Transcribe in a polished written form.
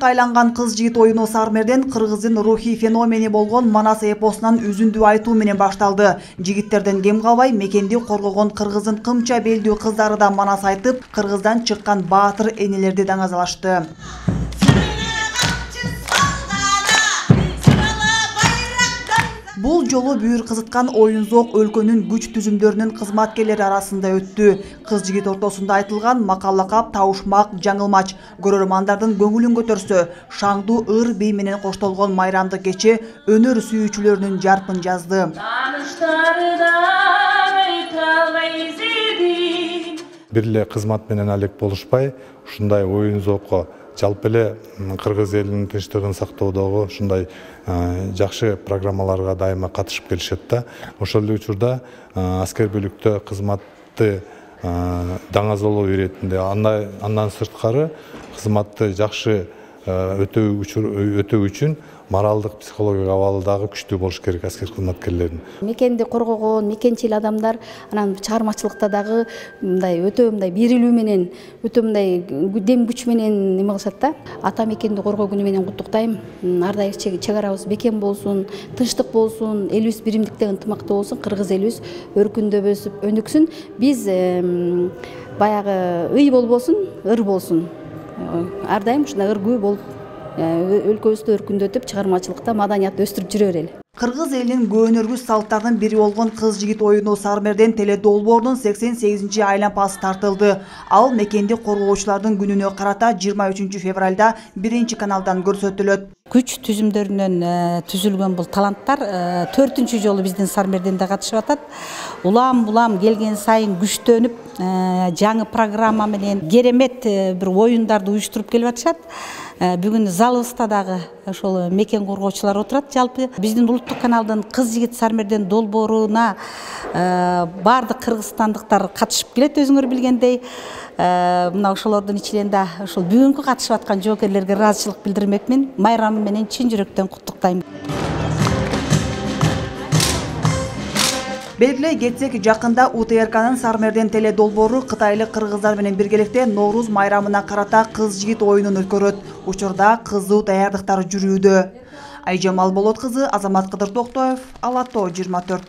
Хайпка айланган кыз-жигит оюну Сармерден кыргыздын рухий феномени болгон Манас эпосунан үзүндү айтуу менен башталды. Жигиттерден кем калбай мекенди коргогон кыргыздын кымча белдүү кыздары да манас айтып, кыргыздан чыккан баатыр энелерди даңазалашты. Бул жолу бүйүр кызыткан оюн-зоок өлкөнүн күч түзүмдөрүнүн кызматкерлери арасында өттү. Кыз-жигит ортосунда айтылган макал-лакап табышмак, жаңылмач көрөрмандардын көңүлүн көтөрсө, шаңдуу ыр бий менен коштолгон майрамдык кече өнөр сүйүүчүлөрүнүн жарпын жазды. Бир эле кызмат менен алек болушпай, ушундай оюн-зоокко жалпы эле кыргыз элинин тынчтыгын сактоодогу ушундай жакшы программаларга дайыма катышып келишет да. Ошол эле учурда аскер бөлүктө кызматты даңазалоо иретинде андан сырткары кызматты жакшы өтөө үчүн моралдык, психологиялык абалы дагы күчтүү болуш керек аскер кызматкерлердин. Мекенди коргогон, мекенчил адамдар анан чыгармачылыкта дагы мындай өтө мындай берилүү менен, өтө мындай дем күч менен неме кылышат да. Ата мекенди коргоо күнү менен куттуктайм. Ар дайым чек арабыз бекем болсун, тынчтык болсун, элибиз биримдикте ынтымакта болсун, кыргыз элибиз өркүндөп өсүп өнүксүн. Биз баягы ый болбосун, ыр болсун. Ар дайым ушундай ыргүү болуп өлкөбүздү өркүндөтүп, чыгармачылыкта маданиятты өстүрүп жүрө берели. Кыргыз элинин көөнөргүс салттарынын бири болгон кыз-жигит оюну Сармерден теле долбоорунун 88-ci айлампасы тартылды. Ал мекенди коргоочулардын күнүнө карата 23 февралда 1 каналдан көрсөтүлөт. Күч түзүмдөрүнөн түзүлгөн бул таланттар 4-чү жолу биздин Сармерденде катышып атат. Улам келген сайын күчтөнүп, жаңы программа менен керемет бир оюндарды уюштуруп келип атышат. Бүгүн залыбызда дагы ошол мекен коргоочулар отурат. Жалпы биздин улуттук каналдын кыз-жигит Сармерден долбооруна баардык кыргызстандыктар катышып келет, өзүңөр билгендей. Мына ошолордун ичинен да ошол бүгүнкү катышып аткан жоокерлерге ыраазычылык билдирмекмин. Майрамы менен чын жүрөктөн куттуктайм. Белгилей кетсек, жакында УТРКнын Сармерден теле долбоору кытайлык кыргыздар менен биргеликте Норуз майрамына карата кыз-жигит оюнун өткөрөт. Учурда кызуу даярдыктар жүрүүдө. Айжамал Болот кызы, Азамат Кыдыр Токтоев, Ала Тоо 24.